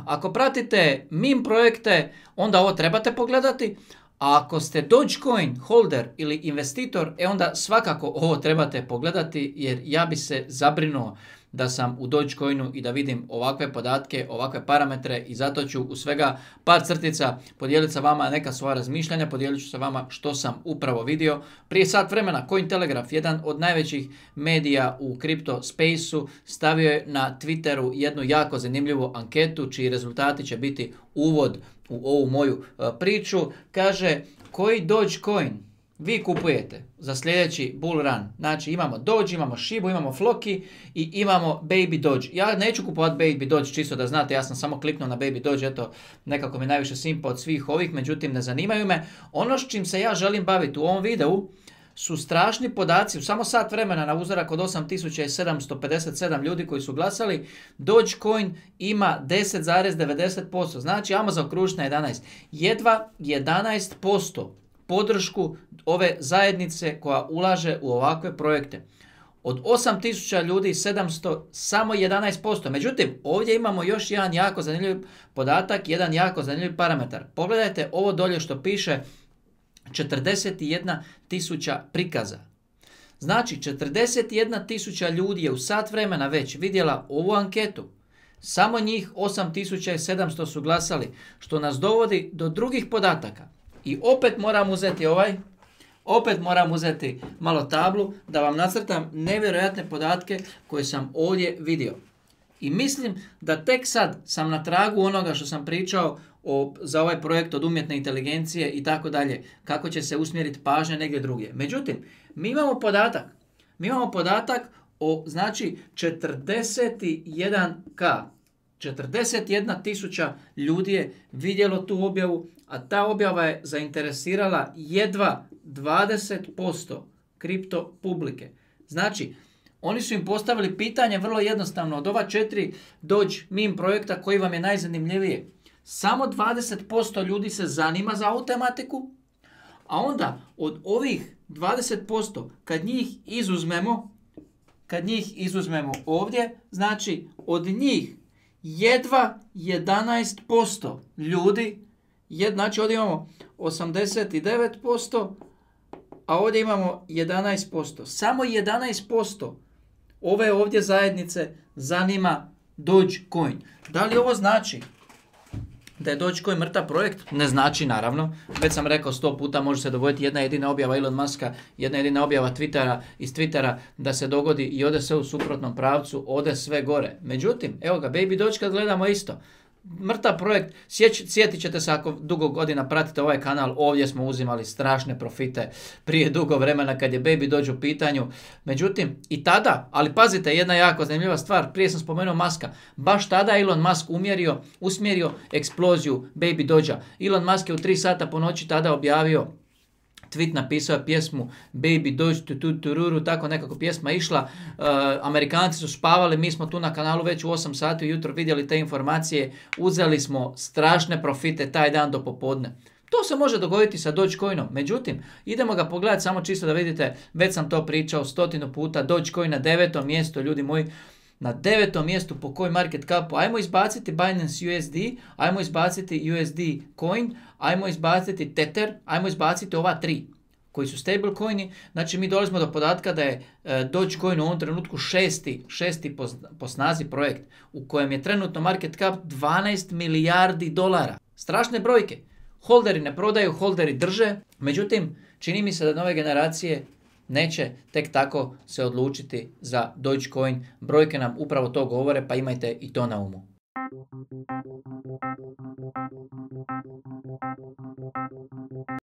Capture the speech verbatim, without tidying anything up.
Da, ako pratite meme projekte, onda ovo trebate pogledati. A ako ste Dogecoin holder ili investitor, e onda svakako ovo trebate pogledati, jer ja bi se zabrinuo da sam u Dogecoinu i da vidim ovakve podatke, ovakve parametre, i zato ću u svega par crtica podijeliti sa vama neka svoja razmišljanja, podijelit ću sa vama što sam upravo vidio. Prije sat vremena Cointelegraph, jedan od najvećih medija u kripto spaceu, stavio je na Twitteru jednu jako zanimljivu anketu, čiji rezultati će biti uvod u ovu moju uh, priču. Kaže, koji Dogecoin vi kupujete za sljedeći bull run? Znači imamo Doge, imamo Shibu, imamo Floki i imamo Baby Doge. Ja neću kupovati Baby Doge, čisto da znate, ja sam samo kliknuo na Baby Doge, eto, nekako mi najviše simpa od svih ovih, međutim ne zanimaju me. Ono s čim se ja želim baviti u ovom videu su strašni podaci. U samo sat vremena na uzorak od osam tisuća sedamsto pedeset sedam ljudi koji su glasali, Dogecoin ima deset zarez devedeset posto. Znači, ajmo zaokružiti na jedanaest. Jedva jedanaest posto podršku ove zajednice koja ulaže u ovakve projekte. Od osam tisuća ljudi sedamsto, samo jedanaest posto. Međutim, ovdje imamo još jedan jako zanimljiv podatak, jedan jako zanimljiv parametar. Pogledajte ovo dolje što piše četrdeset jedna tisuća prikaza. Znači, četrdeset jedna tisuća ljudi je u sat vremena već vidjela ovu anketu. Samo njih osam tisuća sedamsto su glasali, što nas dovodi do drugih podataka. I opet moram uzeti ovaj, opet moram uzeti malo tablu da vam nacrtam nevjerojatne podatke koje sam ovdje vidio. I mislim da tek sad sam na tragu onoga što sam pričao o, za ovaj projekt od umjetne inteligencije i tako dalje, kako će se usmjeriti pažnja negdje drugdje. Međutim, mi imamo podatak, mi imamo podatak o, znači, četrdeset jedan ka. četrdeset jedna tisuća ljudi je vidjelo tu objavu, a ta objava je zainteresirala jedva dvadeset posto kripto publike. Znači, oni su im postavili pitanje vrlo jednostavno. Od ova četiri Doge meme projekta koji vam je najzanimljivije, samo dvadeset posto ljudi se zanima za ovu tematiku, a onda od ovih dvadeset posto kad njih izuzmemo, kad njih izuzmemo ovdje, znači od njih jedva jedanaest posto ljudi, jed, znači ovdje imamo osamdeset devet posto, a ovdje imamo jedanaest posto. Samo jedanaest posto ove ovdje zajednice zanima Dogecoin. Da li ovo znači da je Dogecoin mrtav projekt? Ne znači, naravno. Već sam rekao sto puta, može se dogoditi jedna jedina objava Elon Muska, jedna jedina objava Twittera, iz Twittera da se dogodi i ode sve u suprotnom pravcu, ode sve gore. Međutim, evo ga, Baby Doge kad gledamo isto. Mrtav projekt, Sjeć, sjetit ćete se ako dugo godina pratite ovaj kanal, ovdje smo uzimali strašne profite prije dugo vremena kad je Baby Doge u pitanju. Međutim, i tada, ali pazite, jedna jako zanimljiva stvar, prije sam spomenuo Muska, baš tada Elon Musk umjerio, usmjerio eksploziju Baby Dogea. Elon Musk je u tri sata po noći tada objavio tweet, napisao je pjesmu Baby Doge, tu, tu, tururu, tako nekako pjesma išla. Uh, Amerikanci su spavali, mi smo tu na kanalu već u osam sati ujutro vidjeli te informacije, uzeli smo strašne profite taj dan do popodne. To se može dogoditi sa Dogecoinom, međutim, idemo ga pogledati samo čisto da vidite, već sam to pričao stotinu puta, Dogecoin na devetom mjestu, ljudi moji, na devetom mjestu po coin market capu. Ajmo izbaciti Binance U S D, ajmo izbaciti U S D coin, ajmo izbaciti Tether, ajmo izbaciti ova tri koji su stable coini. Znači mi dolazimo do podatka da je e, Dogecoin u ovom trenutku šesti, šesti po, po snazi projekt u kojem je trenutno market cap dvanaest milijardi dolara. Strašne brojke. Holderi ne prodaju, holderi drže. Međutim, čini mi se da nove generacije neće tek tako se odlučiti za Dogecoin. Brojke nam upravo to govore, pa imajte i to na umu.